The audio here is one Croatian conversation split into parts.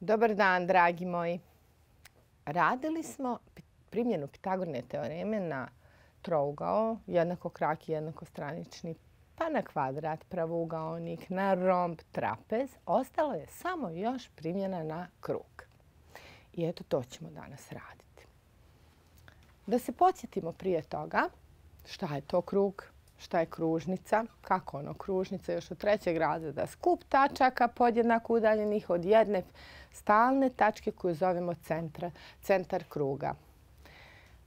Dobar dan, dragi moji. Radili smo primjenu Pitagorine teoreme na trougao, jednakokraki, jednakostranični, pa na kvadrat, pravougaonik, na romb, trapez. Ostalo je samo još primjena na krug. I eto, to ćemo danas raditi. Da se podsjetimo prije toga šta je to krug, šta je kružnica, kako ono kružnica još od 3. razreda. Skup tačaka podjednako udaljenih od jedne stalne tačke koju zovemo centar kruga.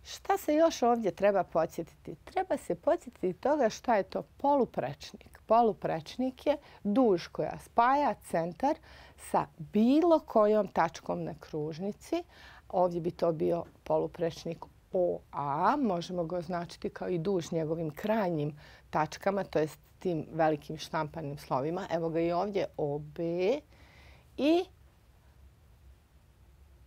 Šta se još ovdje treba podsjetiti? Treba se podsjetiti toga šta je to poluprečnik. Poluprečnik je duž koja spaja centar sa bilo kojom tačkom na kružnici. Ovdje bi to bio poluprečnik OA, možemo ga označiti kao i duž njegovim krajnjim tačkama, to jest tim velikim štampanim slovima. Evo ga i ovdje OB i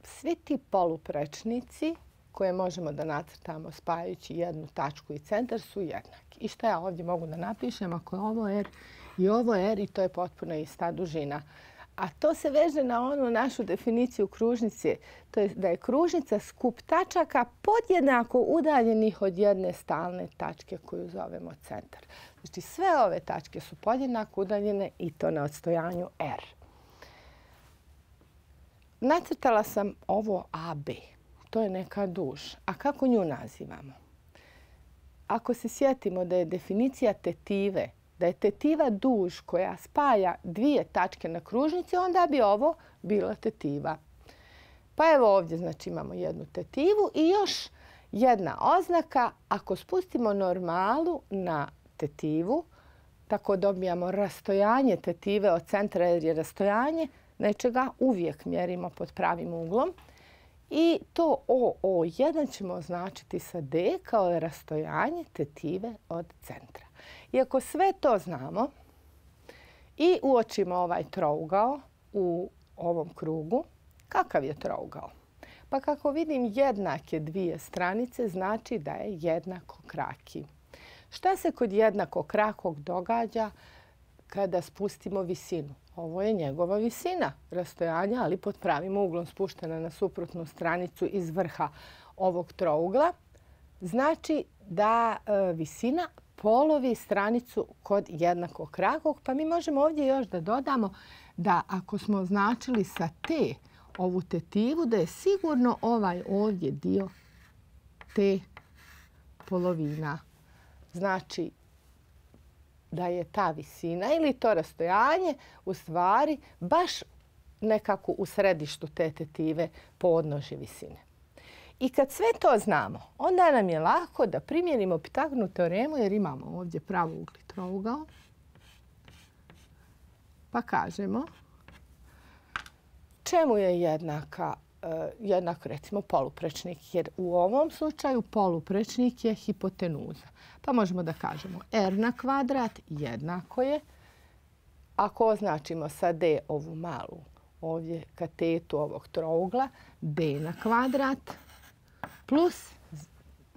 svi ti poluprečnici koje možemo da nacrtamo spajajući jednu tačku i centar su jednaki. I šta ja ovdje mogu da napišem ako je ovo R i ovo R i to je potpuno ista dužina. A to se veže na onu našu definiciju kružnice. To je da je kružnica skup tačaka podjednako udaljenih od jedne stalne tačke koju zovemo centar. Znači sve ove tačke su podjednako udaljene i to na odstojanju R. Nacrtala sam ovo AB. To je neka duž. A kako nju nazivamo? Ako se sjetimo da je definicija tetive, da je tetiva duž koja spaja dvije tačke na kružnici, onda bi ovo bila tetiva. Pa evo ovdje znači imamo jednu tetivu i još jedna oznaka. Ako spustimo normalu na tetivu, tako dobijamo rastojanje tetive od centra jer je rastojanje nečega uvijek mjerimo pod pravim uglom. I to OO1 ćemo označiti sa D kao rastojanje tetive od centra. I ako sve to znamo i uočimo ovaj trougao u ovom krugu, kakav je trougao? Pa kako vidim jednake dvije stranice znači da je jednakokraki. Šta se kod jednakokrakog događa kada spustimo visinu? Ovo je njegova visina rastojanja, ali pod pravim uglom spuštena na suprotnu stranicu iz vrha ovog trougla. Znači da visina polovi stranicu kod jednakokrakog, pa mi možemo ovdje još da dodamo da ako smo označili sa T ovu tetivu, da je sigurno ovaj ovdje dio T polovina. Znači da je ta visina ili to rastojanje u stvari baš nekako u središtu te tetive podnožje visine. I kad sve to znamo, onda nam je lako da primjenimo Pitagorinu teoremu jer imamo ovdje pravougli trougao. Pa kažemo čemu je jednak recimo poluprečnik, jer u ovom slučaju poluprečnik je hipotenuza. Pa možemo da kažemo R na kvadrat jednako je, ako označimo sa D ovu malu ovdje katetu ovog trougla, D na kvadrat plus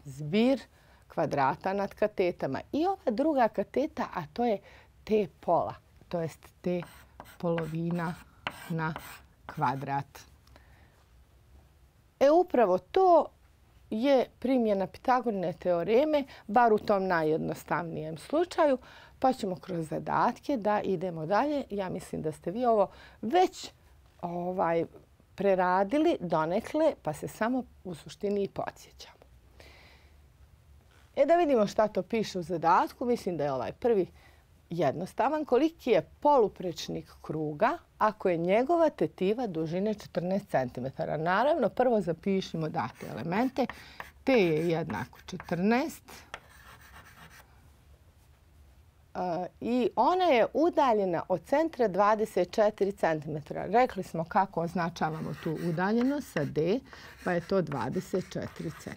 zbir kvadrata nad katetama. I ova druga kateta, a to je T pola, to jest T polovina na kvadrat. Upravo to je primjena Pitagorine teoreme, bar u tom najjednostavnijem slučaju, pa ćemo kroz zadatke da idemo dalje. Ja mislim da ste vi ovo već preradili donekle, pa se samo u suštini i podsjećamo. Da vidimo šta to piše u zadatku. Mislim da je ovaj prvi jednostavan. Koliki je poluprečnik kruga ako je njegova tetiva dužine 14 cm? Naravno, prvo zapišimo date elemente. T je jednako 14 i ona je udaljena od centra 24 cm. Rekli smo kako označavamo tu udaljenost sa D, pa je to 24 cm.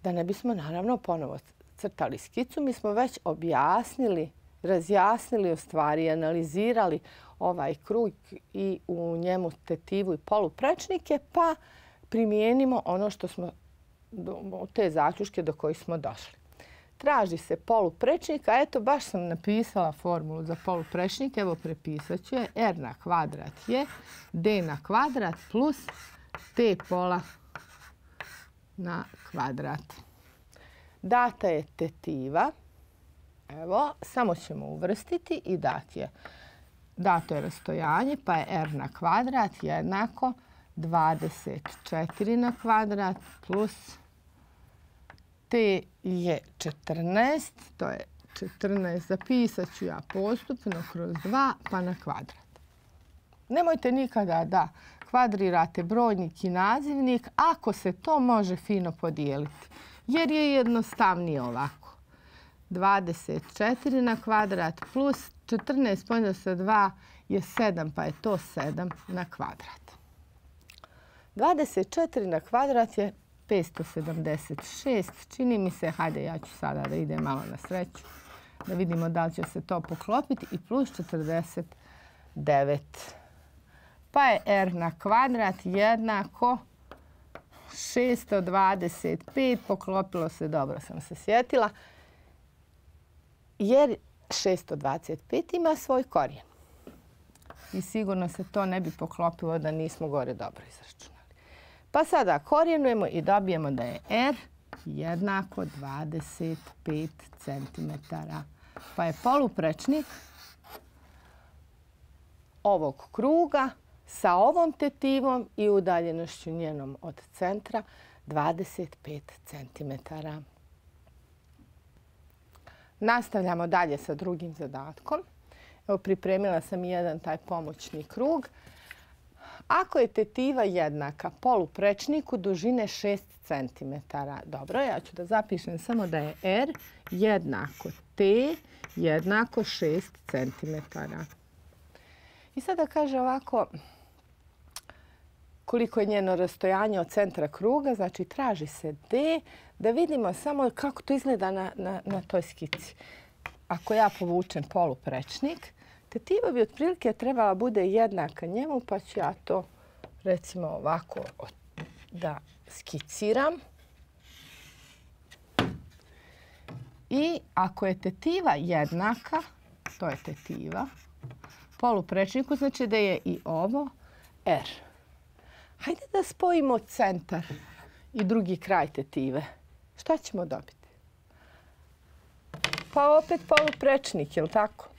Da ne bismo naravno ponovo crtali skicu, mi smo već objasnili, razjasnili u stvari, analizirali ovaj krug i u njemu tetivu i poluprečnike, pa primijenimo ono što smo, te zaključke do kojih smo došli. traži se poluprečnik, a eto baš sam napisala formulu za poluprečnik, evo prepisat ću je. R na kvadrat je D na kvadrat plus T pola na kvadrat. Data je tetiva, evo, samo ćemo uvrstiti i dati je. Dato je rastojanje, pa je R na kvadrat jednako 24 na kvadrat plus T je 14, to je 14, zapisat ću ja postupno kroz 2 pa na kvadrat. Nemojte nikada da kvadrirate brojnik i nazivnik ako se to može fino podijeliti, jer je jednostavnije ovako. 24 na kvadrat plus 14 podijeljeno sa 2 je 7, pa je to 7 na kvadrat. 24 na kvadrat je 576, čini mi se, hajde ja ću sada da idem malo na sreću, da vidimo da li će se to poklopiti, i plus 49. Pa je R na kvadrat jednako 625, poklopilo se, dobro sam se sjetila, jer 625 ima svoj korijen. I sigurno se to ne bi poklopilo da nismo gore dobro izračunali. Pa sada korijenujemo i dobijemo da je R jednako 25 cm. Pa je poluprečnik ovog kruga sa ovom tetivom i udaljenošću njenom od centra 25 cm. Nastavljamo dalje sa drugim zadatkom. Evo, pripremila sam jedan taj pomoćni krug. Ako je tetiva jednaka poluprečniku dužine 6 cm. Dobro, ja ću da zapišem samo da je R jednako T jednako 6 cm. I sada kaže ovako, koliko je njeno rastojanje od centra kruga, znači traži se D, da vidimo samo kako to izgleda na toj skici. Ako ja povučem poluprečnik, tetiva bi otprilike trebala bude jednaka njemu, pa ću ja to recimo ovako da skiciram. I ako je tetiva jednaka, to je tetiva, poluprečniku, znači da je i ovo R. Hajde da spojimo centar i drugi kraj tetive. Šta ćemo dobiti? Pa opet poluprečnik, je li tako?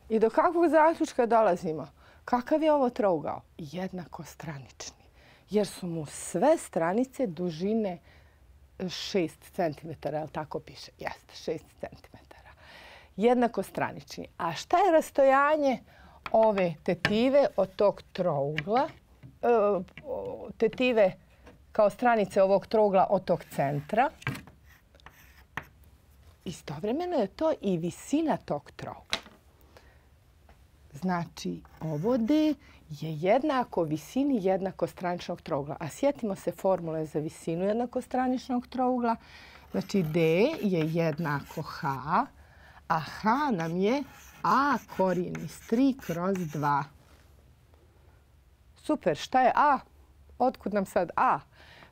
I do kakvog zaključka dolazimo? Kakav je ovo trougao? Jednakostranični. Jer su mu sve stranice dužine 6 cm, je li tako piše? Jeste, 6 cm. Jednakostranični. A šta je rastojanje ove tetive od tog trougla? Tetive kao stranice ovog trougla od tog centra. Istovremeno je to i visina tog trougla. Znači, ovo D je jednako visini jednakostraničnog trougla. A sjetimo se formule za visinu jednakostraničnog trougla. Znači, D je jednako H, a H nam je A korijen iz 3 kroz 2. Super, šta je A? Otkud nam sad A?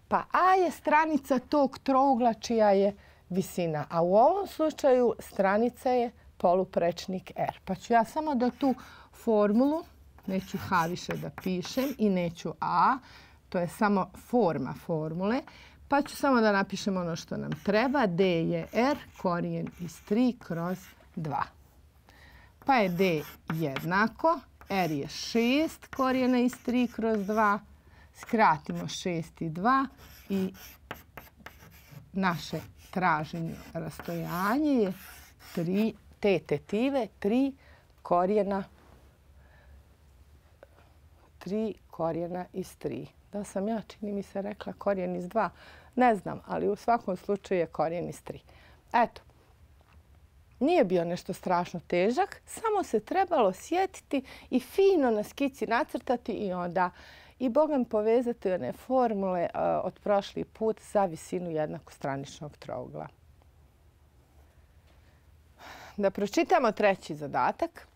Pa A je stranica tog trougla čija je visina, a u ovom slučaju stranica je poluprečnik R. Pa ću ja samo da tu formulu, neću H više da pišem i neću A, to je samo forma formule, pa ću samo da napišem ono što nam treba. D je R korijen iz 3 kroz 2. Pa je D jednako, R je 6 korijena iz 3 kroz 2, skratimo 6 i 2 i naše traženje rastojanje je te tetive 3 korijena iz 3. Da sam ja, čini mi se, rekla korijen iz 2? Ne znam, ali u svakom slučaju je korijen iz 3. Eto, nije bio nešto strašno težak, samo se trebalo sjetiti i fino na skici nacrtati i onda i bogam povezati one formule od prošli put za visinu jednakostraničnog trougla. Da pročitamo treći zadatak,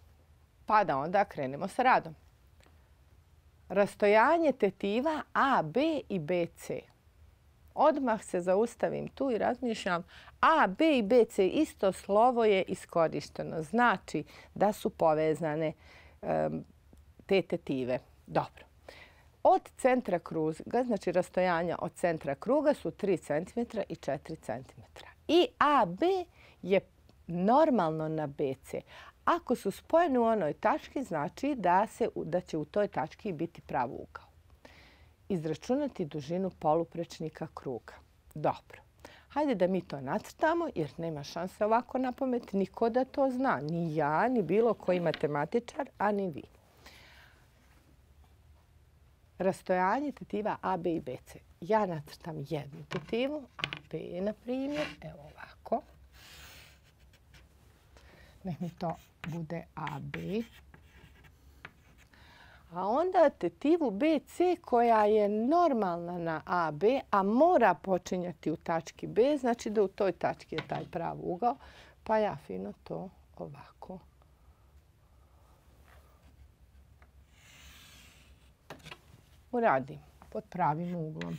pa da onda krenemo sa radom. Rastojanje tetiva AB i BC. Odmah se zaustavim tu i razmišljam A, B i BC isto slovo je iskorišteno. Znači da su povezane te tetive. Dobro. Od centra kruga, znači rastojanja od centra kruga su 3 cm i 4 cm. I AB je normalno na BC. Ako su spojeni u onoj tački, znači da će u toj tački biti pravougal. Izračunati dužinu poluprečnika kruga. Dobro. Hajde da mi to nacrtamo jer nema šanse ovako na pamet niko da to zna. Ni ja, ni bilo koji matematičar, a ni vi. Rastojanje tetiva AB i BC. Ja nacrtam jednu tetivu, AB je na primjer, evo ovako. Nek mi to bude AB. A onda tetivu BC koja je normalna na AB, a mora počinjati u tački B, znači da u toj tački je taj pravougal, pa ja fino to ovako uradim pod pravim uglom.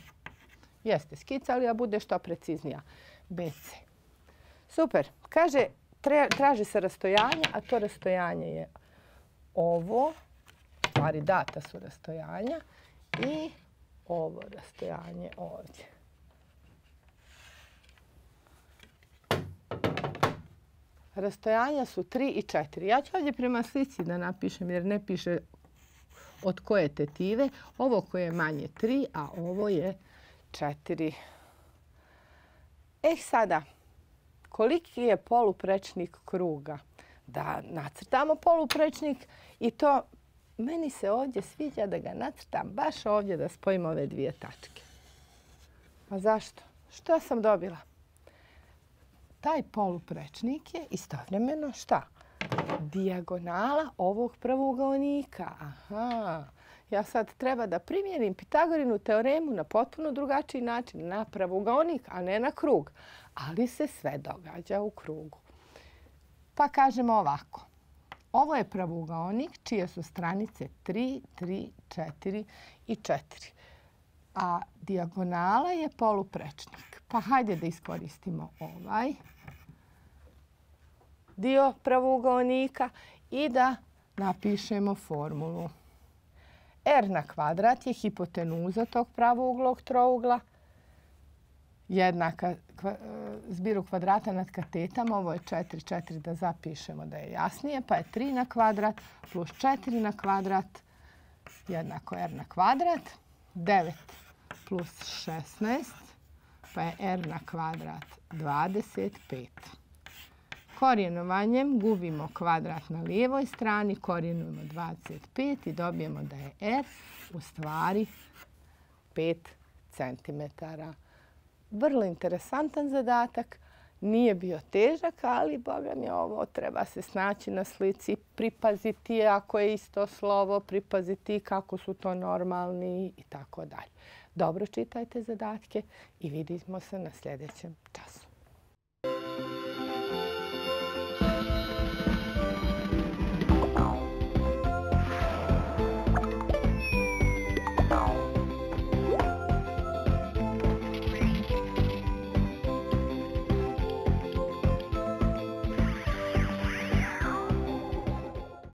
Jeste skicali, a bude što preciznija. BC. Super. Kaže, traži se rastojanje, a to rastojanje je ovo. Stvari data su rastojanja i ovo rastojanje ovdje. Rastojanja su 3 i 4. Ja ću ovdje prema slici da napišem jer ne piše od koje tetive. Ovo koje je manje 3, a ovo je 4. Sada, koliki je poluprečnik kruga? Da nacrtamo poluprečnik i to meni se ovdje sviđa da ga nacrtam baš ovdje da spojim ove dvije tačke. A zašto? Što sam dobila? Taj poluprečnik je istovremeno šta? Dijagonala ovog pravougaonika. Aha. Ja sad treba da primjenim Pitagorinu teoremu na potpuno drugačiji način. Na pravougaonik, a ne na krug. Ali se sve događa u krugu. Pa kažemo ovako. Ovo je pravougaonik čije su stranice 3, 3, 4 i 4. A dijagonala je poluprečnik. Pa hajde da iskoristimo ovaj dio pravougaonika i da napišemo formulu. R na kvadrat je hipotenuza tog pravouglog trougla jednaka zbiru kvadrata nad katetama. Ovo je 4, 4 da zapišemo da je jasnije. Pa je 3 na kvadrat plus 4 na kvadrat jednako R na kvadrat. 9 plus 16 pa je R na kvadrat 25. Korijenovanjem gubimo kvadrat na lijevoj strani, korijenujemo 25 i dobijemo da je R u stvari 5 cm. Vrlo interesantan zadatak. Nije bio težak, ali boga mi ovo treba se snaći na slici, pripaziti ako je isto slovo, pripaziti kako su to normalni i tako dalje. Dobro čitajte zadatke i vidimo se na sljedećem času.